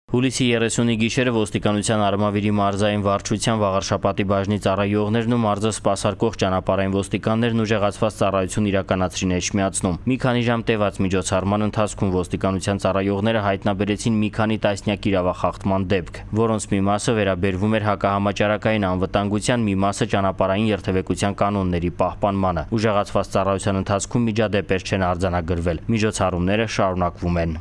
Հուլիսի 30-ի գիշերը ոստիկանության Արմավիրի մարզային վարչության Վաղարշապատի բաժնի ծառայողներն ու մարզը սպասարկող ճանապարհային ոստիկաններն ուժեղացված ծառայություն իրականացրին Էջմիածնում։ Մի քանի ժամ տևած միջոցառման ընթացքում ոստիկանության ծառայողները հայտնաբերեցին մի քանի տասնյակ իրավախախտման դեպք, որոնց մի մասը վերաբերվում էր հակահամաճարակային անվտանգության, մի մասը ճանապարհային երթևեկության կանոնների պահպանմանը։ Ուժեղացված ծառայության ընթացքում միջադեպեր չեն արձանագրվել։ Միջոցառումները շարունակվում են։